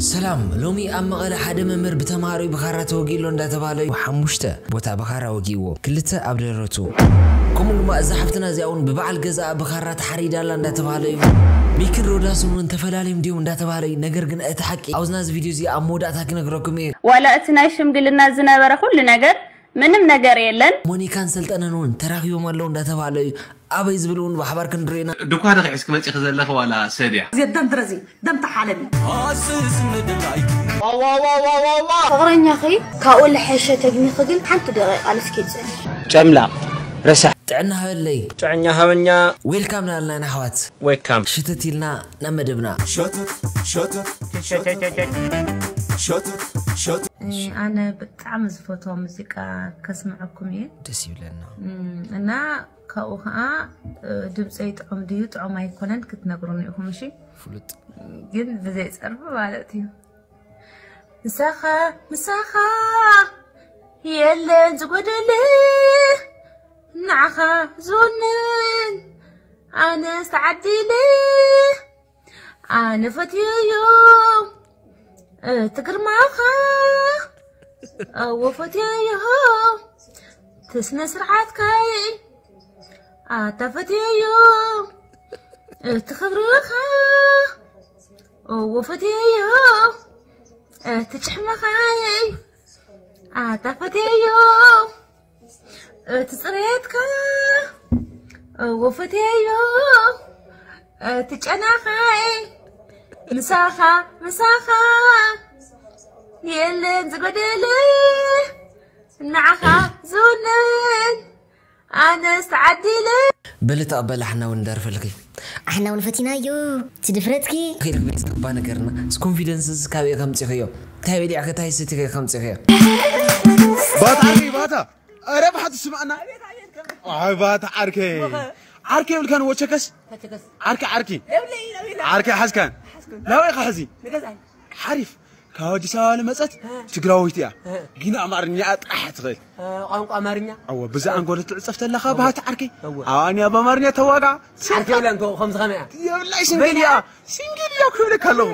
ሰላም። ሎሚ ኣብ መቐለ ሓደ መምህር ብተምሃሮይ ብኻራ ተወጊኡ ኣሎ እንዳተባህለ እዩ። ሓሙሽተ ቦታ ብኻራ ወጊእዎ፣ ክልተ ኣብ ደረቱ። ከምኡ ድማ እዛ ሓፍትና እዚኣ እውን ብበዓል ገዛኣ ብኻራ ተሓሪዳ ኣላ እንዳተባህለ እዩ። ሚክን ሮዳስን እውን ተፈላለዮም ድዮም እንዳተባህለ እዩ። ነገር ግን እቲ ሓቂ ኣብዚ ናዚ ቪድዮ እዚ ኣብ መወዳእታ ክነግረኩም እየ። ዋላ እቲ ናይ ሽምግልና ዝነበረ ኩሉ ነገር ምንም ነገር የለን። ሞኒካን ሰልጠነን እውን ተራኺቦም ኣለዉ እንዳተባህለ እዩ። ኣበይ ዝብል እውን ብሓባር ክንሪኦ ኢና። ድኳ ዶ ሒዝኪ መጺኺ ዘለኺ ዋላ ሰብ እያ? እዚ ደም ድረዚ ደም ተሓለቢ። ፍቕረኛኺ ካብኡ ልሐሸ ተግሚኺ ግን ሓንቲ ደቂቓ ልስኪ ጽንሒ። ጨምላቕ ረሳሕ ጥዕና ሃበለይ። ጥዕኛ ሃበኛ። ዌልካም ናልና ኣሕዋት። ዌልካም። ሽትት ኢልና ናብ መደብና። ኣነ ብጣዕሚ ዝፈትዎ ሙዚቃ ከስምዐኩም እየ። ደስ ይብለና። እም፣ እና ካብኡ ከዓ እ፣ ድምፀይ ጥዑም ድዩ ጥዑም ኣይኮነን ክትነግሩኒ ኢኹም። እሺ፣ ፍሉጥ። ግን ብዘይ ፀርፊ ማለት እዩ። ምሳኻ ምሳኻ የለን ዝጎደለ፣ ንዓኻ ዝውንን ኣነስ ተዓዲለ። ኣነ ፈትየዮ እቲ ግርማኻ፣ ኣዎ ፈትየዮ እቲ ስነ ስርዓትካይ። ኣታ ፈትየዮ እቲ ክብርኻ፣ ኣዎ ፈትየዮ እቲ ጭሕምኻይ። ኣታ ፈትየዮ እቲ ጽሬትካ፣ ኣዎ ፈትየዮ እቲ ጨናኻይ። ምሳኻ ምሳኻ የለን ዝጎደለ፣ ንዓኻ ዝውንን ኣነስ ተዓዲለ። በሊ ተቐበል ኣሕና እውን ደርፈልኪ። ኣሕና እውን ፈቲናዮ እቲ ድፍረትኪ። ከይልክ ቤት ዝግባ ነገርና ስ ኮንፊደንስ እዚ ካበይ ከምፂኽዮ? እንታይ በሊዕከ እንታይ ሰቲኸ ከምፂኽዮ? ባታ ዓርከይ ባታ። ኧረ ብሓቲ ስማዕና። ኣይ ባታ ዓርከይ። ዓርከይ የብልካን ወቸከስ? ዓርከ ዓርኪ። ዓርከ ሓዝካን? ናበይ ኢኻ ሕዚ? ሓሪፍ። ካብ ኣዲስ ኣበባ ልመጸት ትግራወይቲ እያ። ግን ኣማርኛ ጥራሕ ትኽእል። ቋንቋ ኣማርኛ? ኣዎ፣ ብዛ ኣንጎል ትዕጸፍ ተለኻ ባህቲ ዓርከይ። ኣዋንያ በኣማርኛ ተዋጋ። ዓርከይ የብላን እኮ፣ ከምዚ ከመይ እያ? የብላይ ሲንግል እያ። ሲንግል እያ እኮ ይብለካ ኣለኹ።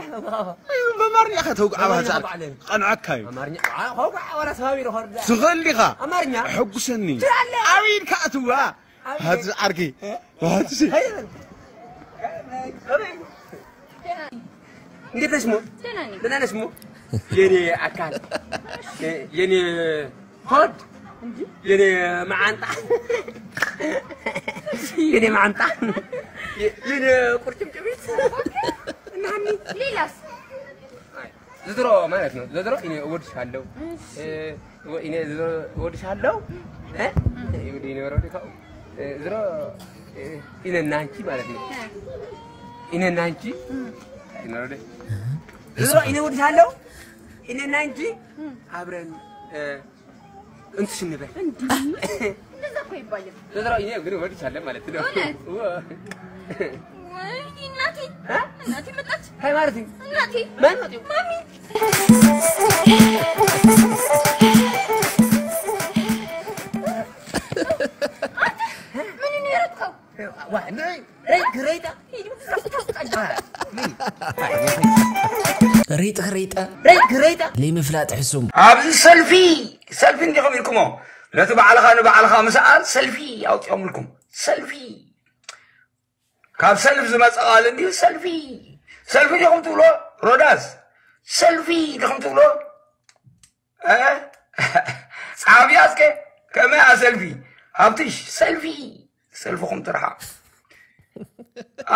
በኣማርኛ ኢኻ ተውግዓ ባህቲ ዓርከይ። ቀንዓካ እዩ። ኣማርኛ? ዋ፣ ዋ፣ ዋላ ተባቢሩ ኸርዳ። ትኽእል ዲኻ? ኣማርኛ? ሕጉሰኒ። ትላለህ? ኣበይ ኢልካ ኣትዋ? ኣበይ? ባህቲ ዓርከይ። ባህቲ ሲ። ከመይ? ከመይ? እንዴት ነሽ ሞ? ደህና ነኝ። ደህና ነሽ ሞ? የኔ አካል፣ የኔ ሆድ፣ የኔ መዓንጣ፣ የኔ መዓንጣ፣ የኔ ቁርጭምጭሚት። እና ሀኒ? ሌላስ? አይ፣ ዝድሮ ማለት ነው። ዝድሮ እኔ እወድሻለሁ። እሺ። እ፣ እኔ ዝድሮ እወድሻለሁ። እ? እኔ ወረደ ካው። እ፣ ዝድሮ፣ እ፣ እኔና አንቺ ማለት ነው። እ። እኔና አንቺ። እኔ ወረደ። ዝድሮ እኔ እወድሻለሁ። እኔና አንቺ አብረን፣ እ፣ እንትሽ እንበል። እንዴ? እንደዛ እኮ አይባልም። ዝድሮ እኔ ግን እወድሻለሁ ማለት ነው። እውነት? እወ። ወይኔ እናቴ፣ እ? እናቴ መጣች። ሀይ ማለት ነው። እናቴ፣ ማን? ማሚ። አንተ ምን ነው የረጥከው? ዋ፣ ረይ-፣ ረይ-፣ ግረይታ። ሪጥ ሪጠ ሪጥ ሪጠ ረይ-፣ ግረይታ። ለይምፍላጥ ሕሱም። ኣብዚ ሰልፊ፣ ሰልፊ እንዲኹም ኢልኩሞ፣ ነቲ ባዕልኻ ንባዕልኻ ምስኣል ሰልፊ ኣውፂኦምልኩም። ሰልፊ። ካብ ሰልፍ ዝመፀ ቃል እንድዩ ሰልፊ። ሰልፊ ዲኹም ትብሎ? ሮዳስ፣ ሰልፊ ዲኹም ትብሎ? እ? ጸሓፊያ እስከ፣ ከመይ እያ ሰልፊ? ሃብትሽ፣ ሰልፊ፣ ሰልፍኹም ትርሓቕ።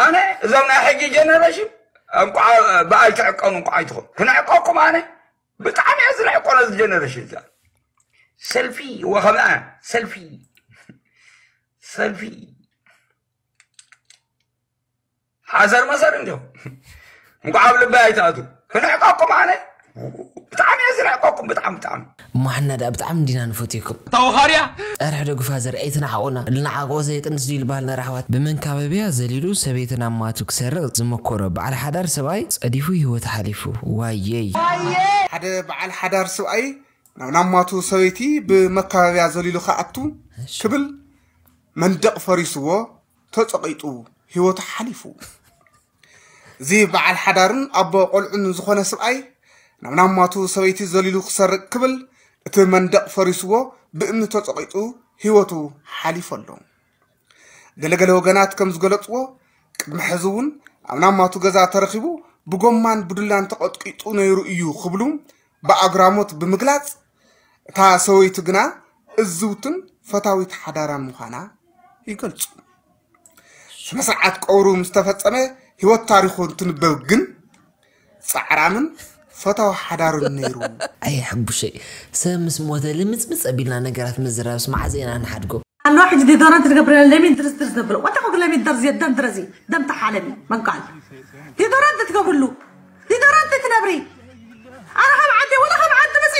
ኣነ እዞም ናይ ሕጂ ጀነሬሽን እንቋዕ ብኣይ ትዕቀኑ፣ እንቋዕ ኣይትኹም። ክንዕቀኩም ኣነ ብጣዕሚ እየ ዝንዕቆ ነዚ ጀነሬሽን እዛ። ሰልፊ ወኸምኣ፣ ሰልፊ፣ ሰልፊ። ሓሰር መሰር እንዲኹም። እንቋዕ ኣብ ልበይ ኣይትኣትዉ። ክንዕቀኩም ኣነ ብጣዕሚ እየ ዝንዕቀኩም፣ ብጣዕሚ፣ ብጣዕሚ። እሞ ሓና ደኣ ብጣዕሚ እንዲና ንፈትየኩም። ታውኻርያ! ጸርሒ ዶ ግፋ ዘርኢ ኣይትንዓቑና። ልንዓቆ ዘየጥንስ ድዩ ዝበሃል ነራ ኣሕዋት። ብመንካበብያ ዘሊሉ ሰበይትን ኣማቱ ክሰርቕ ዝመኮረ በዓል ሓዳር ሰብኣይ ጸዲፉ ህይወት ሓሊፉ። ዋየይ። ሓደ በዓል ሓዳር ሰብኣይ ናብ ናማቱ ሰበይቲ ብመካበብያ ዘሊሉ ክኣቱ ክብል መንደቕ ፈሪስዎ ተጸቒጡ ህይወቱ ሓሊፉ። እዚ በዓል ሓዳርን ኣቦ ቆልዑን ዝኾነ ሰብኣይ ናብ ናማቱ ሰበይቲ ዘሊሉ ክሰርቅ ክብል እቲ መንደቕ ፈሪስዎ ብእምኒ ተጸቒጡ ህይወቱ ሓሊፉ ኣሎ። ገለገለ ወገናት ከም ዝገለጽዎ፣ ቅድሚ ሕዚ እውን ኣብ ናማቱ ገዛ ተረኺቡ ብጎማን ብዱላን ተቐጥቂጡ ነይሩ እዩ ክብሉ ብኣግራሞት ብምግላጽ፣ እታ ሰበይቱ ግና እዝውትን ፈታዊት ሓዳራን ምዃና ይገልጹ። ስነ ስርዓት ቀብሩ ምስ ተፈጸመ ህይወት ታሪኹ እንትንበብ ግን ጻዕራምን ፈታዊ ሓዳርን ነይሩ። ኣየ ሕቡሸይ፣ ሰብ ምስ ሞተ ልምጽምጽ ኣቢልና ነገራት ምዝራብስ መዓዘ ኢና ንሓድጎ? ኣለዋ ሕጂ ዲዶራንት ትገብር ለሚን ድርዝ ድርዝ ዘብል ወታ ኮግ ለሚን ደርዝ የደን ድረዚ ደም ተሓለሚ መንቃል ዲዶራንት ትገብርሉ ዲዶራንት ትነብሪ ኣረ ካብ ዓዲ ወላ ካብ ዓዲ መፂ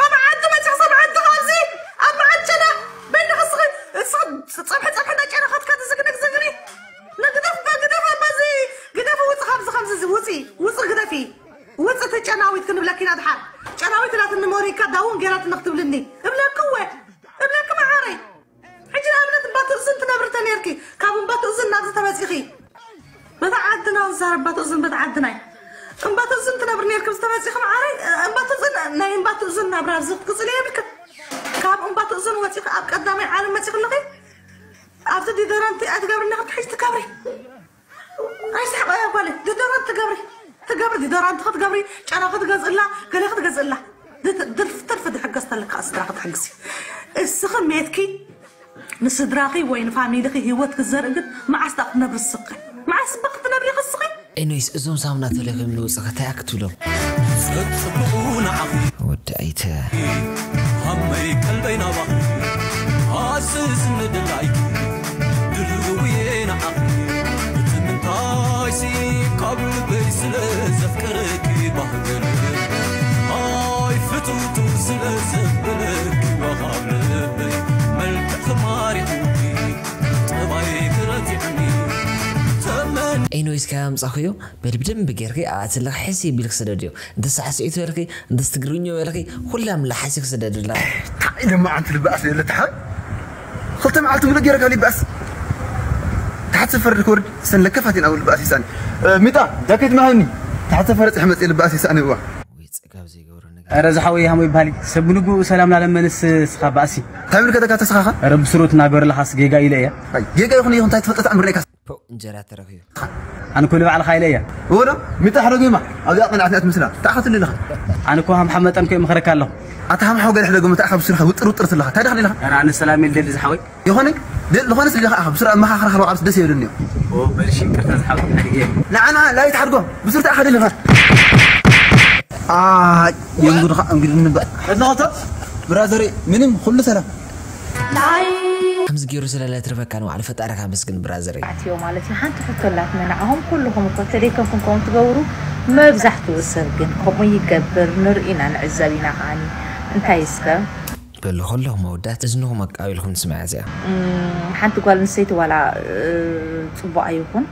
ካብ ዓዲ መፂ ሰብ ዓዲ ካብዚ ኣብ መዓድ ጨና በይንኻ ስኺ ስኺ ፀብሒ ፀብሒ እንዳጨና ኸትካ ትዝግንግ ዝግኒ ንግደፍ በግደፍ ኣባዚ ግደፍ ውፅ ካብዚ ከምዚ ውፂ ውፅ ግደፊ ውፅ ተጨናዊት ክንብለኪ ኢና ድሓር ጨናዊት ኢላትኒ ሞሪካ ዳውን ገይራትኒ ክትብልኒ እብለኪ እወ እብለኪ መዓረይ ሕጂ ንኣብነት እምባ ትእዝን ትነብሪ ተነርኪ ካብ እምባ ትእዝን ናብዚ ተመፂኺ በታ ዓድና ዝዛረብ እምባ ትእዝን በታ ዓድና እዩ እምባ ትእዝን ትነብሪ ነርኪ ኣብዚ ተመፂኺ መዓረይ እምባ ትእዝን ናይ እምባ ትእዝን ናብራ ኣብዚ ክትቅፅል የብልክን ካብ እምባ ትእዝን ወፂኺ ኣብ ቀዳማይ ዓለም መፂኺ ኣለኺ ኣብዚ ዲዶራንቲ ኣይትገብሪ ነኽርኪ ሕጂ ትከብሪ ኣይስሕቕ እያ ጓለይ ዲዶራንት ትገብሪ ትገብሪ ዲዶራንት ክትገብሪ ጨና ክትገዝእላ ገለ ክትገዝእላ ድርፍ ትርፍ ድሕገዝ ተለካ ስድራ ክትሕግዚ እስኺ ሜትኪ ንስድራኺ ወይ ንፋሚሊኺ ህይወት ክዘርኢ ግን መዓስ ዳ ክትነብሪ እስኺ መዓስ እባ ክትነብሪ ኢኺ እስኺ ኤኒዌይስ እዞም ሳሙና ተለኺም ንውፅእ እንታይ ክትብሎም ጽብቑ ንዓኺ ወዲ ኣይተ ሃመይ ቀልበይ ናባኺ ኣስስኒ ድላይኪ ድልውየ ንዓኺ እቲ ምንታይሲ ካብ ልበይ ስለ ዘፍቅረኪ ባህገል ኣይ ፍትውቱ ስለ ዘብለኪ ወኻብ ልበይ መልክዕኺ ማሪኹኪ ጠባይኪ ረቲዕኒ ተመን ኤኒዌይስ ካብ ኣምፃኽዮ በል ብደንቢ ጌርኪ ኣብኣ ትልኺ ሕስይ ቢልኪ ስደድዮ እንተ ሳዕስዒት በልኺ እንተ ትግርኞ በልኺ ኩላ ምላሓሲ ክስደድላ እንታይ ደማ ኣንቲ ልባኣስ የለ ተሓ ክልተ መዓልቲ ሙሉእ ገይረ ካብ ልባኣስ ታሕቲ ሰፈር ክወርድ ሰን ለከፋት ኢና ልባኣስ ይሳኒ ሚጣ ጃኬት ማህኒ ታሕቲ ሰፈር ፅሕ መፅእ ልባኣስ ይሳኒ እዋ ወይ ፅጋብ ዘይገብሮ ነገር ኧረ ዝሓወይ ሃሞ ይበሃል እዩ። ሰብ ብልግኡ ሰላም ላለመንስ ስኻ ባእሲ። እንታይ ብልከተካ ተስኻኻ? ኧረ ብስሩ ትናገር ለኻስ ጌጋ ኢለ እያ። ኣይ፣ ጌጋ ይኹን ይኹን እንታይ ትፈልጠት ኣምርናይካ? ፖ እንጀራ ተረኺቡ። ኣነ ኮ ንባዕልኻ ኢለ እያ። እወ ዶ? ሚጣ ሕደጉ ይማ ኣብዚኣ ቅንዓት ንኣት ምስላ። እንታይ ኢኻ ትብል ኣለኻ? ኣነ ኮ ሃምሓም መጠን ኮ ይመኽረካ ኣለኹ። ኣታ ሃምሓው ገለ ሕደጉ እንታይ ኢኻ ብስርኻ ውጥር ውጥር ትለኻ? እንታይ ደኻ ኢለኻ? ኧረ ኣነ ሰላም ኢለ ደሊ ዝሓወይ። ይኾነ ዝኾነስ ልኻ ብስራ መኻኽራ ከለዋ ዓብስ ደስ ይብልኒ እዩ በልሽ ይቅርታ ዝሓወይ ሓድጌ ንዓና ላይት ሓድጎ ብስርታ ኣኻ ደልኻ የንጉድኻ እንግዲ ንበ እድናኸቶ ብራዘሪ ምንም ኩሉ ሰላም ከምዚ ገይሩ ስለለትርፈካ ንባዕሉ ፈጣሪኻ ኣመስግን ብራዘረይ ኣትዮ ማለት እዩ ሓንቲ ሕቶ ኣላትና ንዓኹም ኩልኹም እኮ ተደይከምኩም ከምኡ ትገብሩ መብዛሕትኡ ሰብ ግን ከምኡ ይገብር ንርኢ ኢና ንዕዘብ ኢና ከዓኒ እንታይ እስከ በሉ ከለኹም ኣወዳት እዝንኹም ኣቃቢልኩም ትስምዓ እዚኣ። ሓንቲ ጓል ኣንስተይቲ ዋላ ፅቡቕ ኣይኹን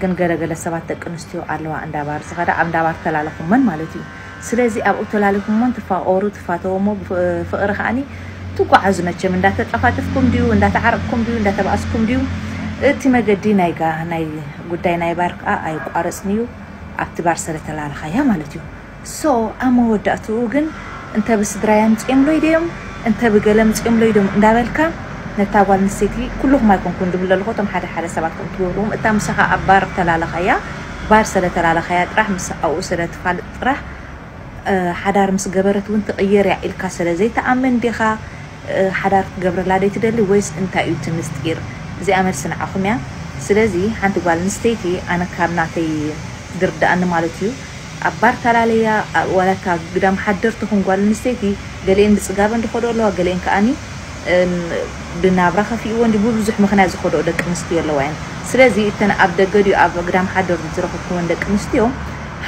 ግን ገለ ገለ ሰባት ደቂ ኣንስትዮ ኣለዋ እንዳ ባር ዝኸዳ ኣብ እንዳ ባር ተላለኹመን ማለት እዩ። ስለዚ ኣብኡ ተላሊኹሞን ትፋቐሩ ትፋተዉ እሞ ብፍቕሪ ከዓኒ ትጓዓዙ መቸም እንዳተጠፋጠፍኩም ድዩ እንዳተዓረቕኩም ድዩ እንዳተባእስኩም ድዩ እቲ መገዲ ናይ ጋ ናይ ጉዳይ ናይ ባር ከዓ ኣይቋረፅን እዩ ኣብቲ ባር ስለተላለኻያ ማለት እዩ። So ኣብ መወዳእትኡ ግን እንተ ብስድራይ ኣምጺኦምለይ ድዮም እንተ ብገለ ኣምጺኦምለይ ድዮም እንዳበልካ ነታ ጓል ኣንስተይቲ ኩልኹም ኣይኮንኩን ድብል ዘለኹ እቶም ሓደ ሓደ ሰባት ከም ትገብርዎም እታ ምሳኻ ኣብ ባር ተላለኻያ ባር ስለ ተላለኻያ ጥራሕ ምስ ኣብኡ ስለ ትፋልጥ ጥራሕ ሓዳር ምስ ገበረት እውን ትቕየር እያ ኢልካ ስለ ዘይትኣምን ዲኻ ሓዳር ክትገብረላ ደይትደሊ ወይስ እንታይ እዩ እቲ ምስጢር? እዚኣ መልሲ ንዓኹም እያ። ስለዚ ሓንቲ ጓል ኣንስተይቲ ኣነ ካብ ናተይ ዝርድኣኒ ማለት እዩ ኣብ ባር ተላለያ ዋላ እታ ግዳም ሓደር ትኹን ጓል ኣንስተይቲ ገሊኤን ብፅጋበን ዝኸድኦ ኣለዋ ገሊኤን ከዓኒ ብናብራ ከፊእወን ድዩ ብብዙሕ ምኽንያት ዝኸድኦ ደቂ ኣንስትዮ ኣለዋ እየን። ስለዚ እተን ኣብ ደገ ድዩ ኣብ ግዳም ሓደር ዝረኸብክወን ደቂ ኣንስትዮ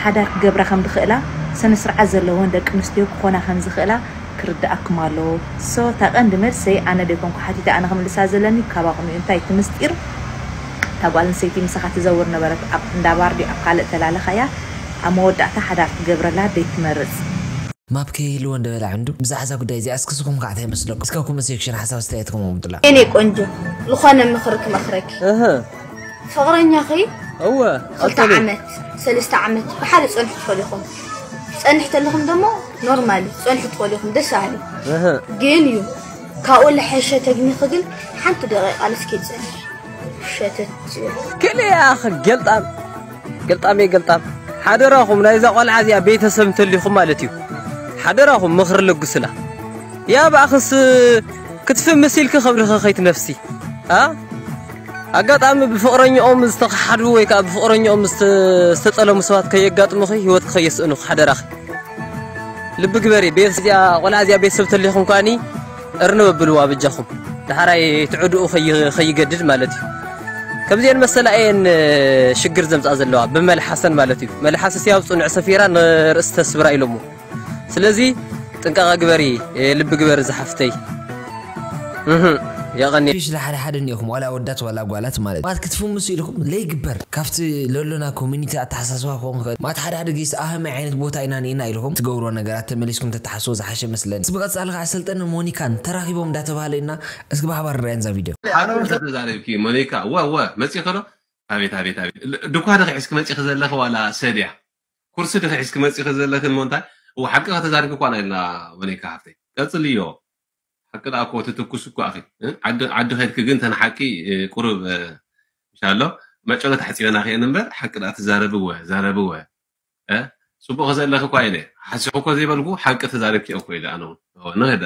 ሓዳር ክገብራ ከም ዝኽእላ ስነ ስርዓት ዘለወን ደቂ ኣንስትዮ ክኾና ከም ዝኽእላ ክርድኣኩም ኣለዎ። So እታ ቀንዲ መልሰይ ኣነ ደይኮንኩ ሓቲተ ኣነ ክምልሳ ዘለኒ ካባኹም እዩ። እንታይ እቲ ምስጢር? እታ ጓል ኣንስተይቲ ምሳኻ ትዘውር ነበረት ኣብ እንዳ ባር ድዩ ኣብ ካልእ ተላለኻያ ኣብ መወዳእታ ሓዳር ክትገብረላ ደይትመርጽ። ማፕ ከይህልዎ እንደበላ ዕንዱ ብዛዕዛ ጉዳይ እዚኣ እስኪ ስኹም ከዓ እንታይ ይመስለኩም እስከ ኮመንት ሴክሽን ሓሳብ ኣስተያየትኩም ኣምጡላ። የኔ ቆንጆ ዝኾነ ምኽሪ ክመኽረኪ። ፍቕረኛኺ እወ ክልተ ዓመት ሰለስተ ዓመት ብሓደ ጸንሑ ትፈልኹም ጸንሕ ተለኹም ደሞ ኖርማል ጸንሑ ትኾሊኹም ደስ ኣለ። ግን እዩ ካብኡ ለሐሸ ተግኒኺ ግን ሓንቲ ደቂቃ ልስኪ ጸንሕ ሸተት ክልያ ገልጣም ገልጣም እየ ገልጣም። ሓደራኹም ናይዛ ቆልዓ እዚኣ ቤተሰብ እንተሊኹም ማለት እዩ። ሓደራኹም ምኽሪ ለግሱላ። ያ ብኣኽስ ክትፍምስ ኢልኪ ከብድኺ ከይትነፍሲ። ኣ ኣጋጣሚ ብፍቕረኛኦም ዝተኸሓዱ ወይ ከዓ ብፍቕረኛኦም ዝተጠለሙ ሰባት ከየጋጥሙኺ ህይወትኪ ከየስእኑኺ ሓደራኺ። ልቢ ግበሪ ቤት እዚኣ ቆልዓ እዚኣ ቤተሰብ ተሊኹም ከኣኒ እርንብ ኣብልዋ በጃኹም። ዳሕራይ ትዕድኡ ከይገድድ ማለት እዩ። ከምዚኤን መሰላ እየን ሽግር ዘምፅኣ ዘለዋ ብመልሓሰን ማለት እዩ። መልሓስ እስቲ ኣብ ፅኑዕ ሰፊራ ንርእሲ ተስብራ ኢሎሞ። ስለዚ ጥንቃቐ ግበሪ ልቢ ግበሪ ዝሓፍተይ። የቐኒ። ሽ ሓደ ሓደ እኒኹም ዋላ ወዳት ዋላ ጓላት ማለት ማለት ክትፍምሱ ኢልኩም ለይግበር ካብቲ ለሎና ኮሚኒቲ ኣተሓሳስባ ክኸውን ክእል ማለት ሓደ ሓደ ግዜ ኣህመ ዓይነት ቦታ ኢና ኒና ኢልኩም ትገብርዎ ነገራት ተመሊስኩም ተተሓስቦ ዝሓሸ መስለኒ። ብቐፃሊ ከዓ ሰልጠነ ሞኒካን ተራኺቦም እንዳተባሃለ ኢና እስኪ ብሓባር ንሪኣን እዛ ቪድዮ። ሓደ ተዛሪብኪ ሞኒካ ወ ወ መፂ ከሎ ኣቤት ኣቤት ኣቤት ድኳ ዶ ሒዝኪ መፂኺ ዘለኺ ዋላ ሰድያ ኩርሲ ዶ ሒዝኪ መፂኺ ዘለኺ እሞ እንታይ እወ ሓቂ ከተዛሪብኪ እኳ ኢና ኢልና ሞኒካ ሓፍተይ ቀፅልዮ። ሓቂ ደኣ እኮ ትትኩስ እኮ ኣኺ ዓዲ ከድኪ ግን ተን ሓቂ ቁሩብ ምሻሎ መጨሎ ተሕፂበና ክእን እምበር ሓቂ ደኣ ትዛረብወ ዛረብወ ፅቡቕ ዘለኺ እኳ ኢለ ሓሲኹ እኮ ዘይበልኩ ሓቂ ተዛሪብኪ እኮ ኢለ ኣነ እውን ንኽዳ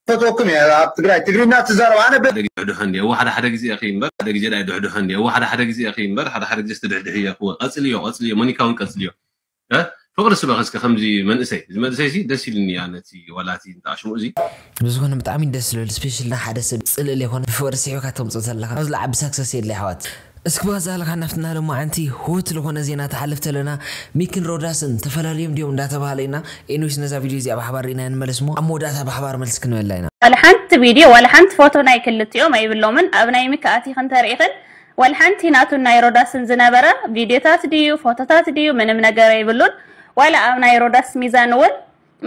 ፈትወኩም እየ ኣብ ትግራይ ትግርኛ ትዛረብ ኣነ ሓደ ግዜ ድሕድሖ እንዲ እወ ሓደ ሓደ ግዜ እኺ እምበር ሓደ ግዜ ዳይ ድሕድሖ እንዲ እወ ሓደ ሓደ ግዜ እኺ እምበር ሓደ ሓደ ግዜ ስትድሕድሕ እየ እወ ቀፅልዮ ቀፅልዮ ሞኒካ እውን ቀፅልዮ ፍቕሪ ስበኺ እስከ ከምዚ መንእሰይ እዚ መንእሰይ ሲ ደስ ኢሉኒ እያ ነቲ ዋላ እቲ እንተኣሽሙ እዚ ብዝኾነ ብጣዕሚ ደስ ዝብል ስፔሻል ንሓደ ሰብ ፅልእ ዘይኮነ ብፍቕሪ ስሒብካ ተምፅኦ ዘለኻ ኣብዚ ለዓቢ ሳክሰስ የድሊ ኣሕዋት እስኪ ብቐፃሊ ካብ ናፍትና ሎማዓንቲ ህውት ዝኾነ ዜና ትሓልፍ ተለና ሚክን ሮዳስን ተፈላለዮም ድዮም እንዳተባሃለ ኢና ኤኒዌይስ ነዛ ቪድዮ እዚኣ ብሓባር ርኢና ንመለስ እሞ ኣብ መወዳእታ ብሓባር መልሲ ክንበላ ኢና ዋላ ሓንቲ ቪድዮ ዋላ ሓንቲ ፎቶ ናይ ክልቲኦም ኣይብሎምን ኣብ ናይ ሚኪ ኣቲኺ እንተርኢኽን ዋላ ሓንቲ ናቱን ናይ ሮዳስን ዝነበረ ቪድዮታት ድዩ ፎቶታት ድዩ ምንም ነገር ኣይብሉን ዋላ ኣብ ናይ ሮዳስ ሚዛን እውን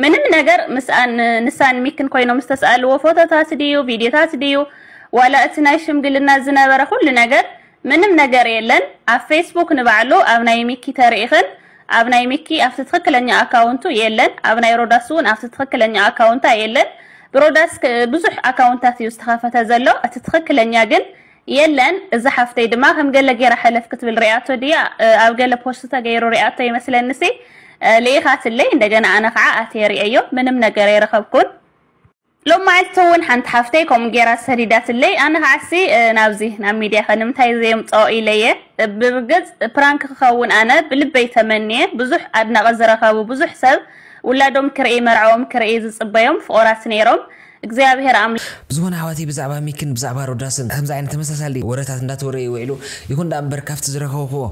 ምንም ነገር ምስኣን ንሳን ሚክን ኮይኖም ዝተስኣልዎ ፎቶታት ድዩ ቪድዮታት ድዩ ዋላ እቲ ናይ ሽምግልና ዝነበረ ኩሉ ነገር ምንም ነገር የለን ኣብ ፌስቡክ ንባዕሉ ኣብ ናይ ሚኪ ተሪኢኽን ኣብ ናይ ሚኪ ኣብቲ ትኽክለኛ ኣካውንቱ የለን ኣብ ናይ ሮዳስ እውን ኣብቲ ትኽክለኛ ኣካውንታ የለን ብሮዳስ ብዙሕ ኣካውንታት እዩ ዝተኸፈተ ዘሎ እቲ ትኽክለኛ ግን የለን እዛ ሓፍተይ ድማ ከም ገለ ገይራ ሕልፍ ክትብል ሪኣቶ ድያ ኣብ ገለ ፖስት ተገይሩ ሪኣቶ ይመስለንሲ ልኢኻትለይ እንደገና ኣነ ከዓ ኣትየ ሪኤዮ ምንም ነገር ኣይረኸብኩን ሎማዓልቲ እውን ሓንቲ ሓፍተይ ከምኡ ገይራ ሰዲዳትለይ ኣነ ከዓሲ ናብዚ ናብ ሚድያ ከ ንምንታይ ዘየምፅኦ ኢለየ ብርግፅ ፕራንክ ክኸውን ኣነ ብልበይ ተመንየ ብዙሕ ኣድናቂ ዝረኸቡ ብዙሕ ሰብ ውላዶም ክርኢ መርዓዎም ክርኢ ዝፅበዮም ፍቑራት ነይሮም እግዚኣብሔር ኣም ብዝኾነ ኣሕዋተይ ብዛዕባ ሚክን ብዛዕባ ሮዳስን ከምዚ ዓይነት ተመሳሳሊ ወረታት እንዳተወረየ ውዒሉ ይኹን ደኣ እምበር ካብቲ ዝረኸብክዎ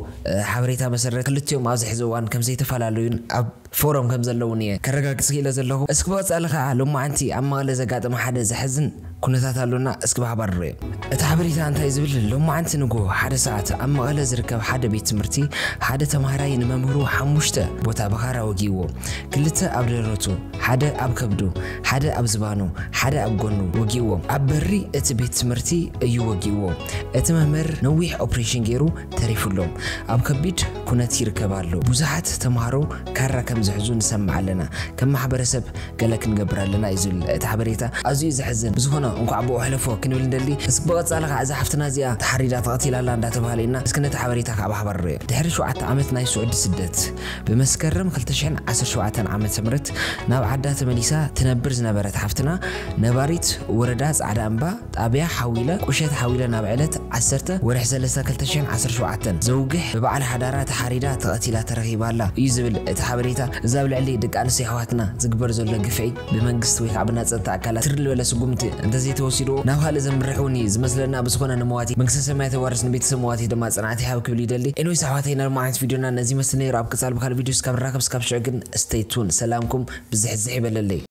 ሓበሬታ መሰረት ክልቲኦም ኣብዚ ሕዚ እዋን ከምዘይተፈላለዩን ኣብ ፎረም ከም ዘለውን እየ ከረጋግፅ ክኢለ ዘለኹ እስኪ ብቐፃሊ ከዓ ሎማዓንቲ ኣብ መቐለ ዘጋጠመ ሓደ ዘሕዝን ኩነታት ኣሎና እስኪ ብሓባር ንሪኦ እቲ ሓበሬታ እንታይ ዝብል ሎማዓንቲ ንግሆ ሓደ ሰዓት ኣብ መቐለ ዝርከብ ሓደ ቤት ትምህርቲ ሓደ ተምሃራይ ንመምህሩ ሓሙሽተ ቦታ ብኻራ ወጊእዎ ክልተ ኣብ ደረቱ ሓደ ኣብ ከብዱ ሓደ ኣብ ዝባኑ ሓደ ኣብ ጎኑ ወጊእዎም ኣብ በሪ እቲ ቤት ትምህርቲ እዩ ወጊእዎ እቲ መምህር ነዊሕ ኦፕሬሽን ገይሩ ተሪፉሎም ኣብ ከቢድ ኩነት ይርከብ ኣሎ ብዙሓት ተምሃሮ ካራ ከም ዝሕዙ ንሰምዕ ኣለና ከም ማሕበረሰብ ገለ ክንገብር ኣለና እዩ ዝብል እቲ ሓበሬታ ኣዝዩ ዘሕዝን ብዝኾነ እንኳዕ ብኡ ሕለፎ ክንብል ንደሊ እስኪ ብቐፃሊ ከዓ እዛ ሓፍትና እዚኣ ተሓሪዳ ተቐቲላ ኣላ እንዳተባሃለ ኢና እስኪ ነቲ ሓበሬታ ከዓ ብሓባር ንሪኦ ድሕሪ ሸውዓተ ዓመት ናይ ስዑዲ ስደት ብመስከረም ክልተ ሽሕን ዓሰርተ ሸውዓተን ዓመተ ምህረት ናብ ዓዳ ተመሊሳ ትነብር ዝነበረት ሓፍትና ነባሪት ወረዳ ፃዕዳ እምባ ጣብያ ሓዊለ ቁሸት ሓዊለ ናብ ዕለት ዓሰርተ ወርሒ ሰለስተ ክልተ ሽሕን ዓሰርተ ሸውዓተን ዘውግሕ ብበዓል ሓዳራ ተሓሪዳ ተቐቲላ ተረኺባ ኣላ እዩ ዝብል እቲ ሓበሬታ እዚ ኣብ ልዕሊ ደቂ ኣንስትዮ ኣሕዋትና ዝግበር ዘሎ ግፍዒ ብመንግስቲ ወይ ከዓ ብናይ ፀጥታ ኣካላት ትርል ዝበለ ስጉምቲ እንተዘይተወሲድዎ ናብ ካልእ ዘምርሕ እውን እዩ ዝመስለና ብዝኾነ ንመዋቲ መንግስተ ሰማይ ተዋርስ ንቤተሰብ መዋቲ ድማ ፅንዓት ይሃብ ክብል ይደሊ ኤንዌይስ ኣሕዋተይ ናይ ሎማዓንቲ ቪድዮና ነዚ ይመስል ነይሩ ኣብ ቀፃሊ ብካልእ ቪድዮ እስካብ ንራኸብ እስካብ ሽዑ ግን stay tune ሰላምኩም ብዝሕዝሕ ይበለለይ